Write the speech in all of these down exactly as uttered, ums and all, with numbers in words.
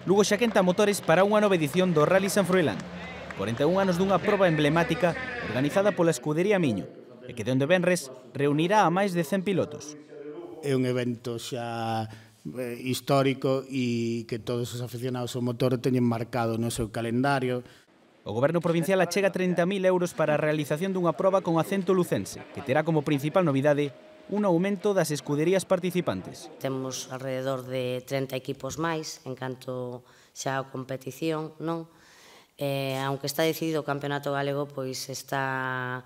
Lugo xa quenta motores para unha nova edición do Rally San Froilán. corenta e un anos dunha proba emblemática organizada pola escudería Miño e que de onde venres reunirá a máis de cen pilotos. É un evento xa histórico e que todos os aficionados ao motor teñen marcado no seu calendario. O Goberno provincial achega trinta mil euros para a realización dunha proba con acento lucense, que terá como principal novidade un aumento das escuderías participantes. Temos alrededor de trinta equipos máis en canto xa a competición, non? Eh, aunque está decidido o campeonato galego, pois está,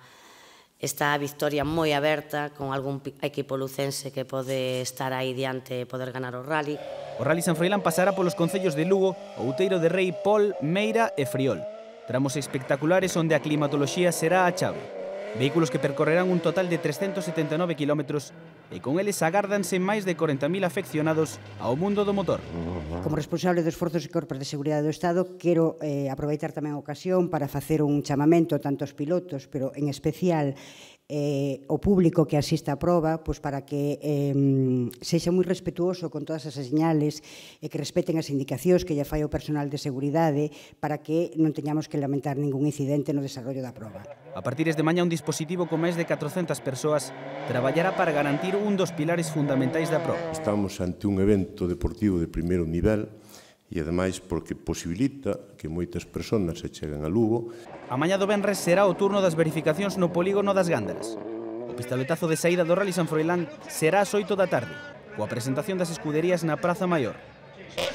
está a victoria moi aberta con algún equipo lucense que pode estar aí diante e poder ganar o rally. O Rally San Froilán pasará polos concellos de Lugo, Outeiro de Rei, Pol, Meira e Friol. Tramos espectaculares onde a climatoloxía será a chave. Vehículos que percorrerán un total de trescentos setenta e nove kilómetros e con eles agárdanse máis de corenta mil afeccionados ao mundo do motor. Como responsable dos esforzos e corpos de seguridade do Estado, quero eh, aproveitar tamén a ocasión para facer un chamamento tanto aos pilotos, pero en especial eh, o público que asista á proba, pois para que eh, sexa moi respetuoso con todas as señales e que respeten as indicacións que lle fai o personal de seguridade para que non teñamos que lamentar ningún incidente no desarrollo da proba. A partir de mañá un dispositivo con máis de catrocentas persoas traballará para garantir un dos pilares fundamentais da proba. Estamos ante un evento deportivo de primeiro nivel e ademais porque posibilita que moitas persoas se cheguen a Lugo. A mañá do venres será o turno das verificacións no polígono das Gándaras. O pistoletazo de saída do Rally San Froilán será ás oito da tarde, coa presentación das escuderías na Praza Maior.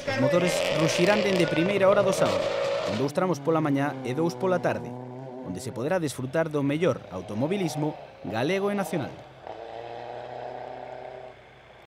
Os motores ruxirán dende primeira hora do sábado, con dous tramos pola mañá e dous pola tarde, onde se poderá desfrutar do mellor automobilismo galego e nacional.